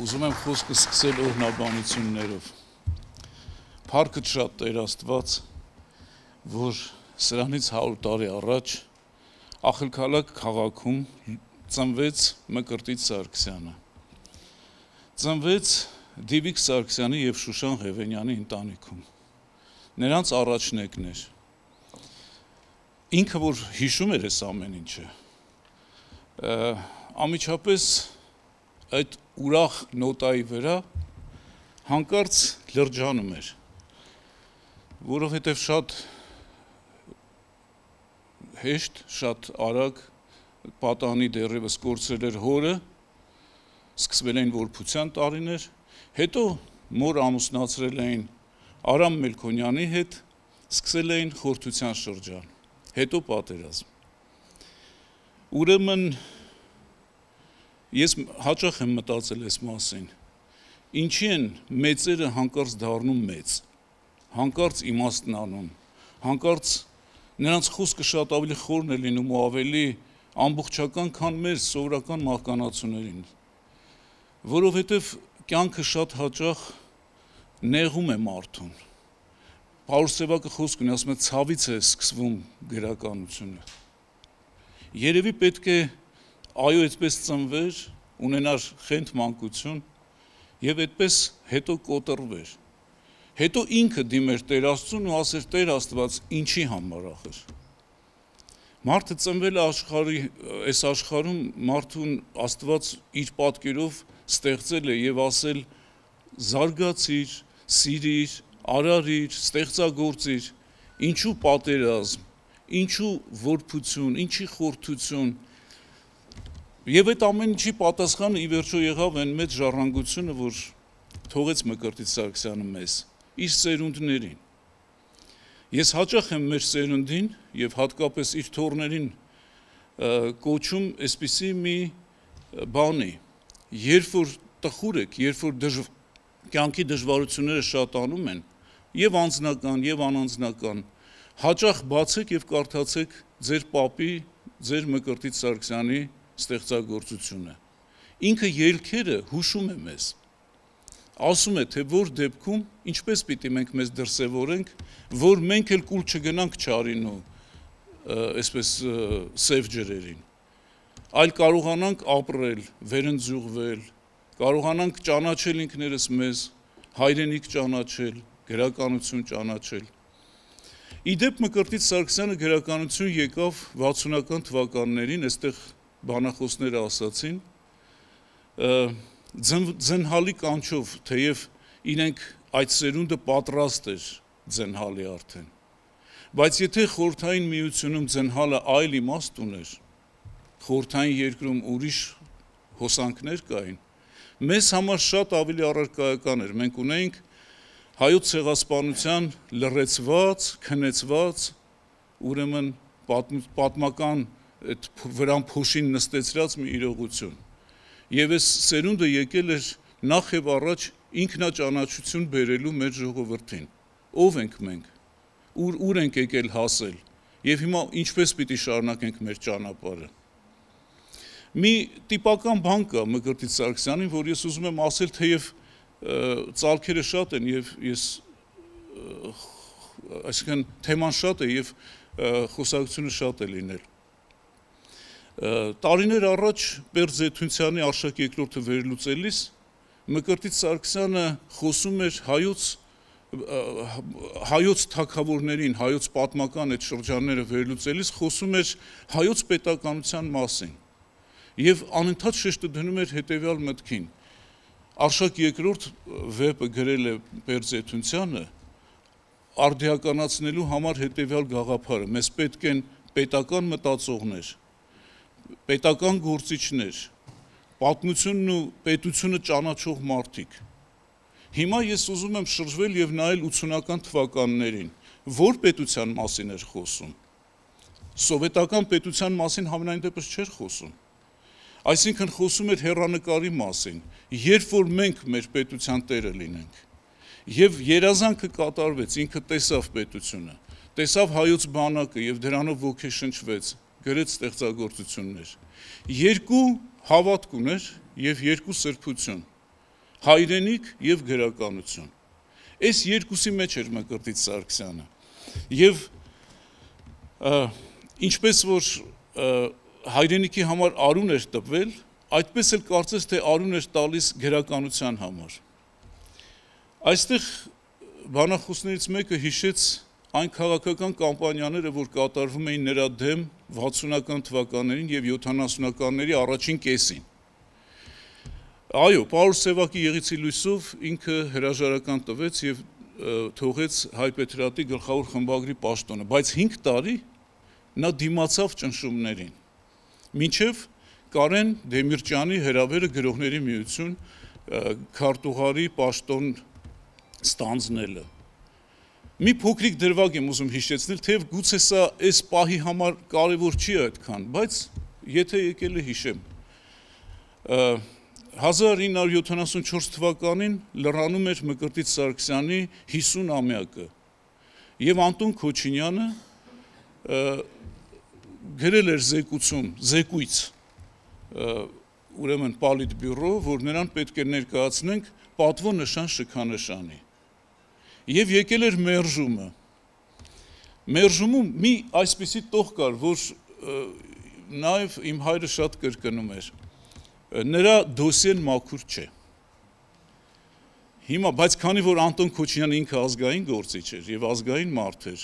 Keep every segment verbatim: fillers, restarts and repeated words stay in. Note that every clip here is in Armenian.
Ուզում եմ խոսքը սկսել օրհնաբանություններով։ Փառքը շատ Տեր Աստված, որ սրանից հարյուր տարի առաջ Ախալքալակ քաղաքում ծնվեց Մկրտիչ Սարգսյանը։ Ծնվեց Դիվիկ Սարգսյանի եւ Շուշան Ղևենյանի ընտանիքում։ Նրանց առաջնեկն էր։ Ինքը որ հիշում էր այս ամեն ինչը, ամիջապես այդ ուրախ նոտայի վրա հանկարծ լրջանում էր, որովհետև շատ հեշտ, շատ արագ պատանի դեռևս կորցրել էր հորը, սկսվել էին որբության տարիներ, հետո մոր ամուսնացրել էին Արամ Մելքոնյանի հետ, սկսել էին խորհրդության շրջան, հետո պատերազմ։ Ուրեմն ես հաճախ եմ մտածել այս մասին, ինչի են մեծերը հանկարծ դառնում մեծ, հանկարծ իմաստն անում, հանկարծ նրանց խոսքը շատ ավելի խորն է լինում ու ավելի ամբողջական, քան մեր սովորական մահկանացուներին, որովհետև կյանքը շատ հաճախ նեղում է մարդուն։ Պաուլոս Սևակը խոսք ունի, ասում է ցավից է սկսվում գրականությունը։ Երևի պետք է այո այդպես ծնվեր, ունենար խենթ մանկություն եւ այդպես հետո կոտրվեր։ Հետո ինքը դիմեր Տեր Աստծուն ու ասեր Տեր Աստված, ինչի համար ախր։ Մարդը ծնվել է աշխարհի, այս աշխարհում մարդուն Աստված իր պատկերով ստեղծել է եւ ասել զարգացիր, սիրիր, արարիր, ստեղծագործիր, ինչու պատերազմ, ինչու որբություն, ինչի խորհրդություն։ Եվ այդ ամեն ինչի պատասխանը ի վերջո եղավ այն մեծ ժառանգությունը, որ թողեց Մկրտիչ Սարգսյանը մեզ, իր սերունդներին։ Ես հաճախ եմ մեր սերունդին եւ հատկապես իր թոռներին կոչում այսպիսի մի բանի, երբ որ տխուր եք, երբ որ դժվ... կյանքի դժվարությունները շատանում են, եւ անձնական, եւ անանձնական, հաճախ բացեք եւ կարդացեք ձեր պապի, ձեր Մկրտիչ Սարգսյանի ստեղծագործությունը։ Ինքը ելքերը հուշում է մեզ։ Ասում է, թե որ դեպքում ինչպես պիտի մենք մեզ դրսևորենք, որ մենք էլ կուլ չգնանք չարին ու այսպես սև ջրերին, այլ կարողանանք ապրել, վերընձյուղվել, կարողանանք ճանաչել ինքներս մեզ, հայրենիք ճանաչել, գրականություն ճանաչել։ Իդեպ Մկրտիչ Սարգսյանը գրականություն եկավ վաթսունական թվականներին, այստեղ բանախոսները ասացին, ձնհալի կանչով, թեև իրենք այդ սերունդը պատրաստ էր ձնհալի արդեն, բայց եթե խորհրդային միությունում ձնհալը այլ իմաստ ուներ, խորհրդային երկրում ուրիշ հոսանքներ կային, մեզ համար շատ ավելի առարկայական էր, մենք ունեինք հայոց ցեղասպանության լռեցված, քնեցված, ուրեմն պատմական այդ վրան փոշին նստեցրած մի իրողություն։ Եվ այս սերունդը եկել էր նախ եւ առաջ ինքնաճանաչություն բերելու մեր ժողովրդին։ Ով ենք մենք, ուր ուր ենք եկել հասել, եւ հիմա ինչպես պիտի շարունակենք մեր ճանապարհը։ Մի տիպական բան կա Մկրտիչ Սարգսյանին, որ ես ուզում եմ ասել, թեև ծալքերը շատ են եւ ես այսինքն թեման շատ է եւ խոսակցությունը շատ է լինել։ Տարիներ առաջ Պերճ Զեյթունցյանի Արշակ երկրորդը վերլուծելիս Մկրտիչ Սարգսյանը խոսում էր հայոց հայոց թագավորներին, հայոց պատմական այդ շրջանները վերլուծելիս խոսում էր հայոց պետականության մասին եւ անընդհատ շեշտը դնում էր հետեւյալ մտքին. Արշակ երկրորդ վեպը գրել է Պերճ Զեյթունցյանը արդիականացնելու համար հետեւյալ գաղափարը. մեզ պետք են պետական մտածողներ, պետական գործիչներ, պատմությունն ու պետությունը ճանաչող մարդիկ։ Հիմա ես ուզում եմ շրջվել եւ նայել ութսունական թվականներին, որ պետության մասին էր խոսում։ Սովետական պետության մասին համենայն դեպս չէր խոսում։ Այսինքն խոսում էր հեռանկարի մասին, երբ որ մենք մեր պետության տերը լինենք։ Եվ երազանքը կատարվեց, ինքը տեսավ պետությունը, տեսավ հայոց բանակը եւ դրանով ոգեշնչվեց, գրեց ստեղծագործություններ։ Երկու հավատք ուներ եւ երկու սրբություն։ հայրենիք եւ գրականություն։ Այս երկուսի մեջ էր Մկրտիչ Սարգսյանը։ Եվ ինչպես որ հայրենիքի համար արուն էր տպվել, այդպես էլ կարծես թե արուն էր տալիս գրականության համար։ Այստեղ բանախոսներից մեկը հիշեց այն քաղաքական կամպանիաները, որ կատարվում էին նրա դեմ վաթսունական թվականներին եւ յոթանասունականների առաջին կեսին։ Այո, Պարուս Սևակի Եղիցի լույսով ինքը հրաժարական տվեց եւ թողեց Հայ Պետրատի գլխավոր խմբագրի պաշտոնը, բայց հինգ տարի նա դիմացավ ճնշումներին։ Մինչև Կարեն Դեմիրճյանի հրավերը գրողների միություն քարտուղարի պաշտոն ստանձնելը։ Մի փոքրիկ դրվագ եմ ուզում հիշեցնել, թեև գուցե սա այս պահի համար կարևոր չի այդքան, բայց եթե եկել է հիշեմ։ հազար ինը հարյուր յոթանասունչորս թվականին լրանում էր Մկրտիչ Սարգսյանի հիսուն-ամյակը եւ Անտոն Քոչինյանը գրել էր զեկուցում, զեկույց ուրեմն Պոլիտբյուրո, որ նրան պետք է ներկայացնենք պատվո նշան շքանշանի։ Եվ եկել էր մերժումը։ Մերժումում մի այսպիսի տող կար, որ նաև իմ հայրը շատ կրկնում էր։ Նրա դոսիեն մաքուր չէ։ Հիմա, բայց քանի որ Անտոն Քոչինյանը ինքը ազգային գործիչ էր եւ ազգային մարդ էր,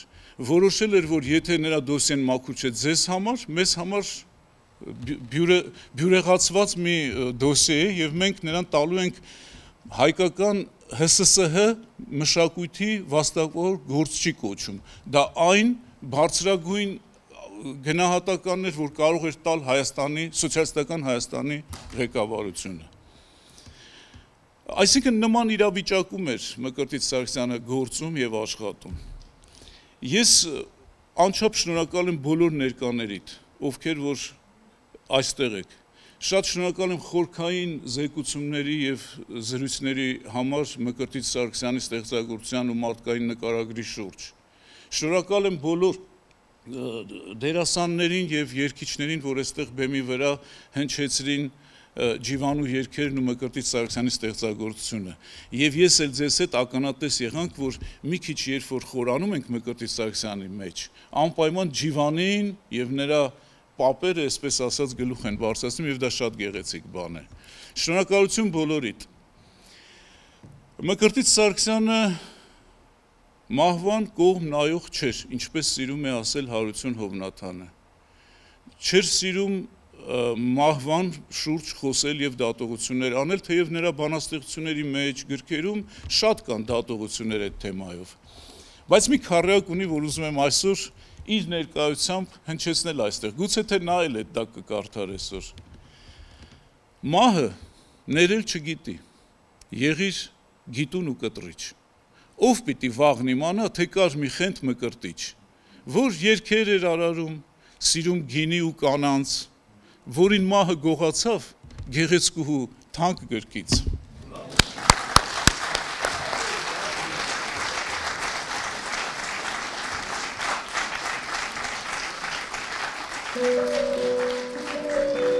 որոշել էր, որ եթե նրա դոսիեն մաքուր չէ ձեզ համար, մեզ համար բյուրեղացված մի դոսիե է եւ մենք նրան տալու ենք հայկական Հ Ս Ս Հ մշակույթի վաստակավոր գործչի կոչում։ Դա այն բարձրագույն գնահատականն էր, որ կարող էր տալ Հայաստանի, սոցիալիստական Հայաստանի ղեկավարությունը։ Այսինքն նման իրավիճակում էր Մկրտիչ Սարգսյանը գործում եւ աշխատում։ Ես անչափ շնորհակալ եմ բոլոր ներկաներիդ, ովքեր որ այստեղ եք։ Շատ շնորհակալ եմ խորքային զեկուցումների եւ զրույցների համար Մկրտիչ Սարգսյանի ստեղծագործության ու մարդկային նկարագրի շուրջ։ Շնորհակալ եմ բոլոր դերասաններին եւ երգիչներին, որ այստեղ բեմի վրա հնչեցրին ջիվանու երգերն ու Մկրտիչ Սարգսյանի ստեղծագործությունը։ Եվ ես էլ ձեզ հետ ականատես եղանք, որ մի քիչ երբ որ խորանում ենք Մկրտիչ Սարգսյանի մեջ, անպայման ջիվանին եւ նրա պապերը, այսպես ասած, գլուխ են բարձրացնում եւ դա շատ գեղեցիկ բան է։ Շնորհակալություն բոլորիդ։ Մկրտիչ Սարգսյանը մահվան կողմ նայող չէր, ինչպես սիրում է ասել Հարություն Հովնաթանը։ Չէր սիրում մահվան շուրջ խոսել եւ դատողություններ անել, թեև նրա բանաստեղծությունների մեջ, գրքերում շատ կան դատողություններ այդ թեմայով։ Բայց մի քառյակ ունի, որ ուզում եմ այսօր իր ներկայությամբ հնչեցնել այստեղ, գուցե թե նա էլ այդ դա կկարդար այսօր։ Մահը ներել չգիտի, եղիր գիտուն ու կտրիչ։ Ով պիտի վաղն իմանա, թե կար մի խենթ Մկրտիչ, որ երգեր էր արարում, սիրում գինի ու կանանց, որին մահը գողացավ գեղեցկուհու թանկ գրքից։ Thank you.